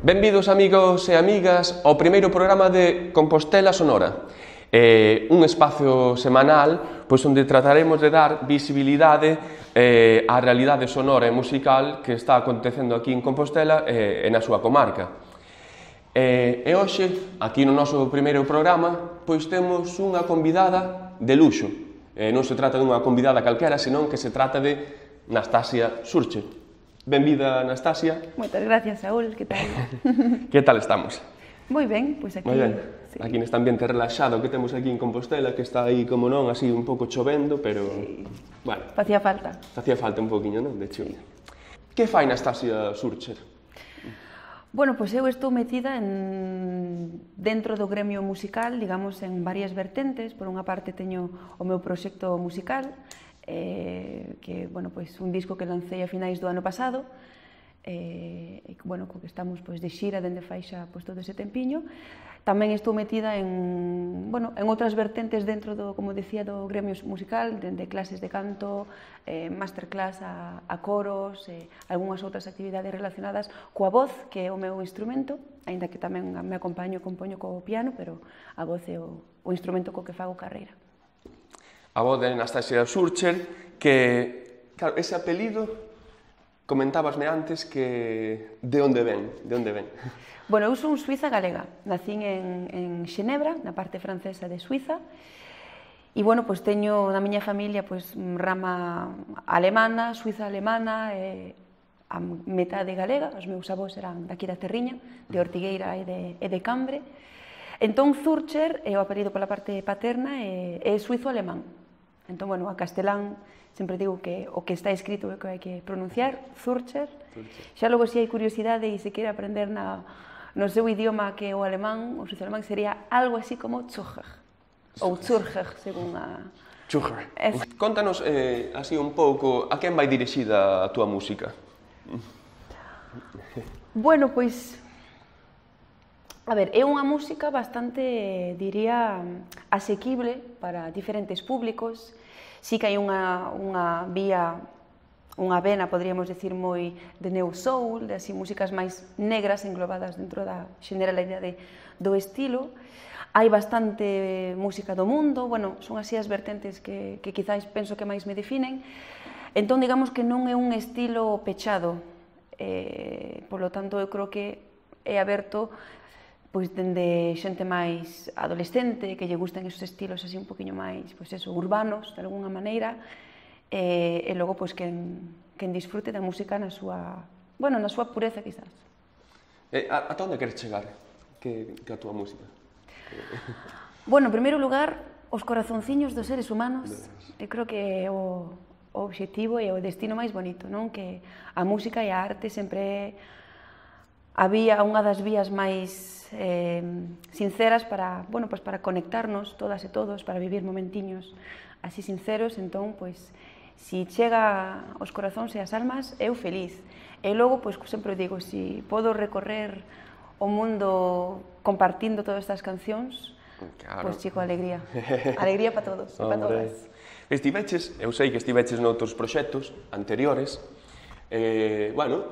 Benvidos amigos e amigas ao primeiro programa de Compostela Sonora, un espacio semanal onde trataremos de dar visibilidade á realidade sonora e musical que está acontecendo aquí en Compostela e na súa comarca. E hoxe, aquí no noso primeiro programa, temos unha convidada de luxo. Non se trata dunha convidada calquera, senón que se trata de Nastasia Surcher. Benvida, Nastasia. Moitas gracias, Saúl, que tal? Que tal estamos? Moi ben, pois aquí... Moi ben. Sí. Aquí neste ambiente relaxado que temos aquí en Compostela, que está aí, como non, así un pouco chovendo, pero... Sí. Bueno. Facía falta. Facía falta un poquinho, non, de chuvia. Que fai Nastasia Surcher? Bueno, pois eu estou metida dentro do gremio musical, digamos, en varias vertentes. Por unha parte teño o meu proxecto musical, que, bueno, pois un disco que lancei a finais do ano pasado, bueno, co que estamos pois de xira dende fai xa pois todo ese tempiño. Tamén estou metida en, bueno, en outras vertentes dentro do, como decía, do gremio musical, dende clases de canto, masterclass a coros, algunhas outras actividades relacionadas coa voz, que é o meu instrumento, aínda que tamén me acompaño e compoño co piano, pero a voz é o instrumento co que fago carreira. A voz de Nastasia Surcher, que, claro, ese apelido, comentábasme antes que de onde ven, de onde ven? Bueno, eu son suiza galega, nacín en Xenebra, na parte francesa de Suiza, e, bueno, pois teño na miña familia pois rama alemana, suiza alemana, a metade galega, os meus avós eran daqui da Terriña, de Ortigueira e de Cambre. Entón, Surcher é o apelido pola parte paterna e é suizo-alemán. Entón, bueno, a castelán sempre digo que o que está escrito é o que hai que pronunciar, Surcher. Xa logo, se hai curiosidade e se quere aprender no seu idioma que é o alemán, o suizo-alemán, sería algo así como Zürcher, ou Zürcher, según a... Zürcher. Contanos así un pouco a quen vai dirixida a túa música. Bueno, pois... A ver, é unha música bastante, diría, asequible para diferentes públicos. Sí que hai unha vía, unha vena, podríamos decir, moi de neo soul, de así músicas máis negras englobadas dentro da generalidade do estilo. Hai bastante música do mundo, bueno, son así as vertentes que quizáis penso que máis me definen. Entón, digamos que non é un estilo pechado, polo tanto, eu creo que é aberto pois dende xente máis adolescente, que lle gustan esos estilos así un poquinho máis, pois eso, urbanos, de alguna maneira, e logo, pois, quen disfrute da música na súa, bueno, na súa pureza, quizás. Ata onde queres chegar que a túa música? Bueno, en primeiro lugar, os corazonciños dos seres humanos, eu creo que é o obxectivo e o destino máis bonito, non? Que a música e a arte sempre había unha das vías máis sinceras para, bueno, pois para conectarnos todas e todos, para vivir momentiños así sinceros. Entón, pois, si chega aos corazóns e as almas, eu feliz. E logo, pois, sempre digo, si podo recorrer o mundo compartindo todas estas cancións, claro, pois, chico, alegría. Alegría para todos e para todas. Estiveches, eu sei que estiveches noutros proxectos anteriores, bueno,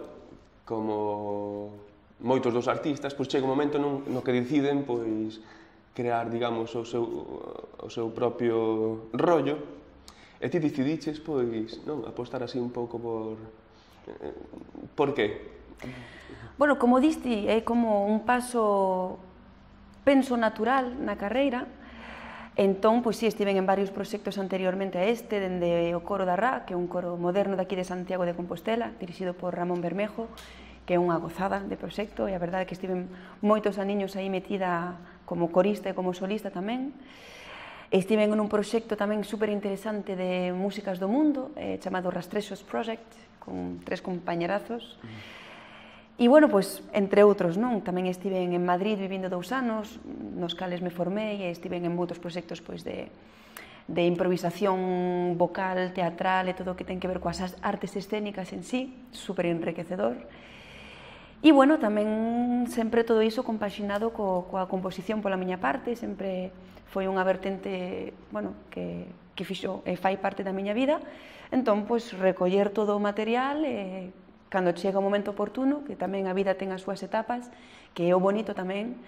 como moitos dos artistas, pois chega un momento no que deciden pois crear, digamos, o seu propio rollo, e ti decidiches, pois, non, apostar así un pouco por que? Bueno, como diste, é como un paso, penso, natural na carreira. Entón, pois, si, estiven en varios proxectos anteriormente a este, dende o Coro da Rá, que é un coro moderno daqui de Santiago de Compostela, dirixido por Ramón Bermejo, que é unha gozada de proxecto, e a verdade é que estiven moitos aniños aí metida como corista e como solista tamén. Estiven en un proxecto tamén super interesante de músicas do mundo, chamado Rastrexos Project, con 3 compañerazos. E, bueno, pois, entre outros, non? Tamén estiven en Madrid vivindo 2 anos, nos cales me formei, e estiven en moitos proxectos, pois, de improvisación vocal, teatral e todo o que ten que ver coas artes escénicas en sí, super enriquecedor. E, bueno, tamén sempre todo iso compaxinado coa composición pola miña parte, sempre foi unha vertente, bueno, que fixo e fai parte da miña vida. Entón, pois, recoller todo o material e cando chega o momento oportuno, que tamén a vida ten as súas etapas, que é o bonito tamén,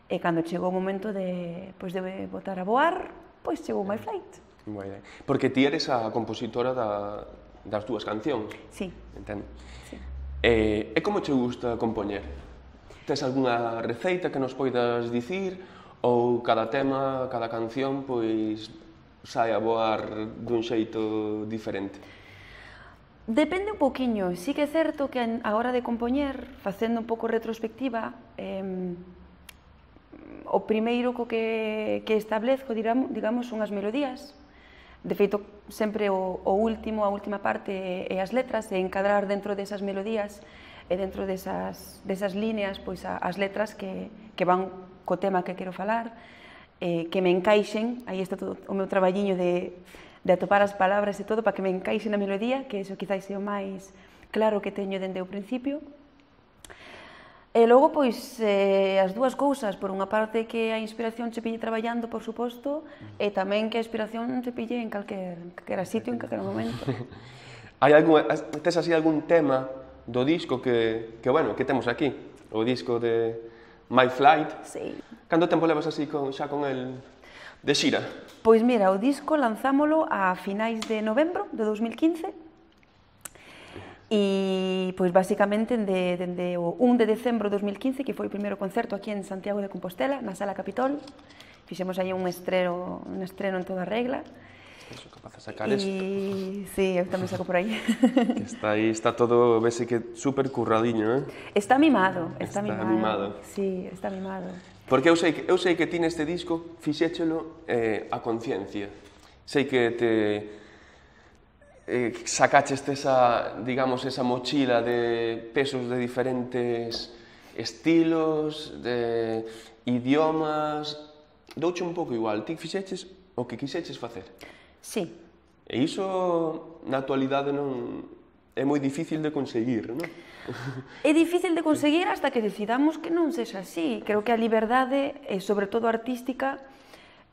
e cando chegou o momento de botar a voar, pois chegou My Flight. Moi ben. Porque ti eres a compositora das túas cancións. Sí. Entendo. Sí. E como che gusta compoñer? Tes algunha receita que nos poidas dicir? Ou cada tema, cada canción, pois sai a voar dun xeito diferente? Depende un poquinho. Sí que é certo que a hora de compoñer, facendo un pouco retrospectiva, o primeiro co que establezco, digamos, son as melodías. De feito, sempre a última parte é as letras, e encadrar dentro desas melodías e dentro desas líneas pois as letras que van co tema que quero falar, que me encaixen, aí está todo o meu traballiño de atopar as palabras e todo para que me encaixe na melodía, que iso quizás é o máis claro que teño dende o principio. E logo, pois, as dúas cousas, por unha parte que a inspiración che pille traballando, por suposto, e tamén que a inspiración te pille en calquera sitio, en calquera momento. Tes así algún tema do disco que temos aquí? O disco de My Flight? Sí. Canto tempo levas así xa con el de xira? Pois mira, o disco lanzámolo a finais de novembro de 2015, e, pois, basicamente, dende o 1 de decembro de 2015, que foi o primeiro concerto aquí en Santiago de Compostela, na Sala Capitol, fixemos aí un estreno en toda regla. Eso, capaz de sacar isto. Sí, eu tamén saco por aí. Que está aí, está todo, vese que super curradiño, Está mimado, Está mimado. Sí, está mimado. Porque eu sei que ti neste disco fixéchelo a conciencia. Sei que te sacaches esa mochila de pesos de diferentes estilos, de idiomas, douche un pouco igual, ti fixeches o que quixeches facer. Sí. E iso na actualidade non é moi difícil de conseguir, non? É difícil de conseguir hasta que decidamos que non sexa así. Creo que a liberdade, e sobre todo artística,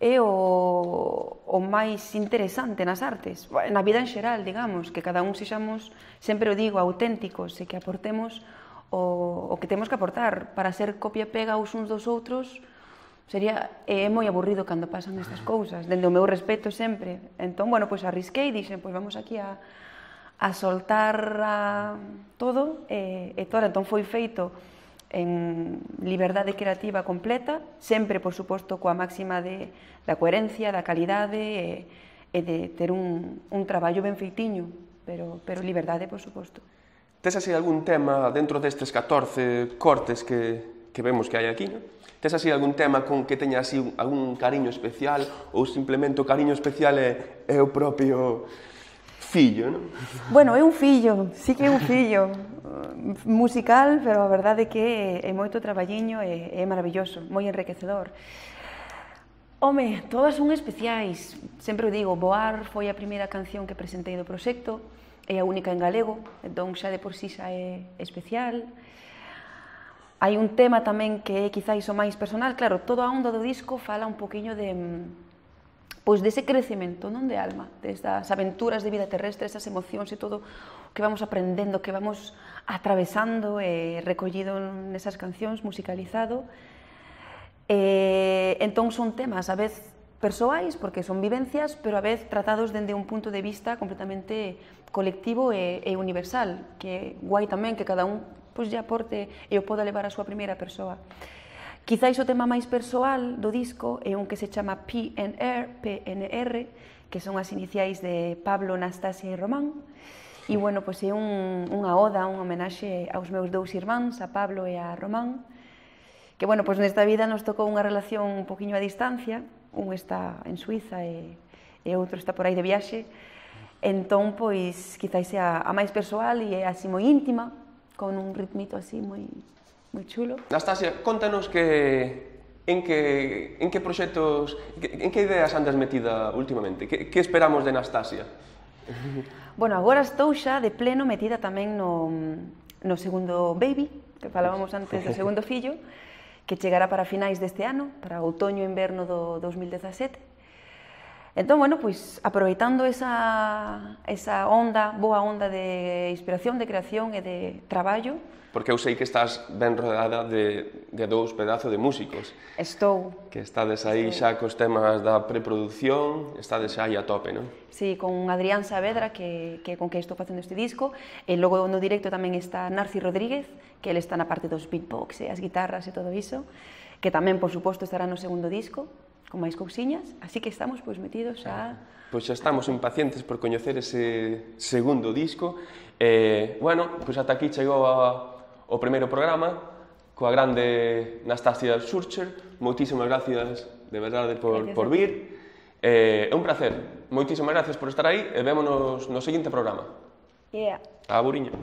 é o máis interesante nas artes, na vida en xeral, digamos, que cada un sexamos, sempre o digo, auténticos e que aportemos o que temos que aportar. Para ser copia e pega os uns dos outros é moi aburrido cando pasan estas cousas, dende o meu respeto sempre. Entón, pois arrisquei e dixen, pois vamos aquí a soltar todo e todo. Entón foi feito en liberdade creativa completa, sempre, por suposto, coa máxima da coherencia, da calidade e de ter un traballo ben feitiño, pero liberdade, por suposto. Tes así algún tema dentro destes 14 cortes que vemos que hai aquí, non? Tes así algún tema con que teña así algún cariño especial ou simplemente o cariño especial é o propio fillo, non? Bueno, é un fillo, sí que é un fillo musical, pero a verdade é que é moito traballiño e é maravilloso, moi enriquecedor. Home, todas son especiais. Sempre o digo, Voar foi a primeira canción que presentei do proxecto, é a única en galego, entón xa de por sí xa é especial. Hai un tema tamén que é quizáis o máis personal, claro, toda a onda do disco fala un poquinho dese crecemento, non, de alma, destas aventuras de vida terrestre, esas emocións e todo o que vamos aprendendo, que vamos atravesando e recollido nesas cancións, musicalizado. Entón son temas a vez persoais, porque son vivencias, pero a vez tratados dende un punto de vista completamente colectivo e universal, que é guai tamén que cada un lle aporte e o poda levar a súa primeira persoa. Quizáis o tema máis persoal do disco é un que se chama PNR, que son as iniciais de Pablo, Nastasia e Román. E, pois é unha oda, unha homenaxe aos meus dous irmáns, a Pablo e a Román, que, pois nesta vida nos tocou unha relación un poquinho a distancia, un está en Suiza e outro está por aí de viaxe, entón, pois, quizáis é a máis persoal e é así moi íntima, con un ritmito así moi chulo. Nastasia, contanos en que proxectos, en que ideas andas metida últimamente? Que esperamos de Nastasia? Agora estou xa de pleno metida tamén no segundo baby, que falábamos antes do segundo fillo, que chegará para finais deste ano, para outoño e inverno do 2017. Entón, bueno, pois, aproveitando esa onda, boa onda de inspiración, de creación e de traballo. Porque eu sei que estás ben rodeada de dous pedazos de músicos. Estou. Que estades aí xa cos temas da preproducción, estades xa aí a tope, non? Sí, con Adrián Saavedra, con que estou facendo este disco, e logo no directo tamén está Narci Rodríguez, que ele está na parte dos beatbox e as guitarras e todo iso, que tamén, por suposto, estará no segundo disco, con máis cousiñas, así que estamos pois metidos xa... Pois xa estamos impacientes por coñecer ese segundo disco. Bueno, pois ata aquí chegou o primeiro programa coa grande Nastasia Schurcher. Moitísimas gracias, de verdade, por vir. É un placer. Moitísimas gracias por estar aí e vémonos no seguinte programa. Yeah. Aburiño.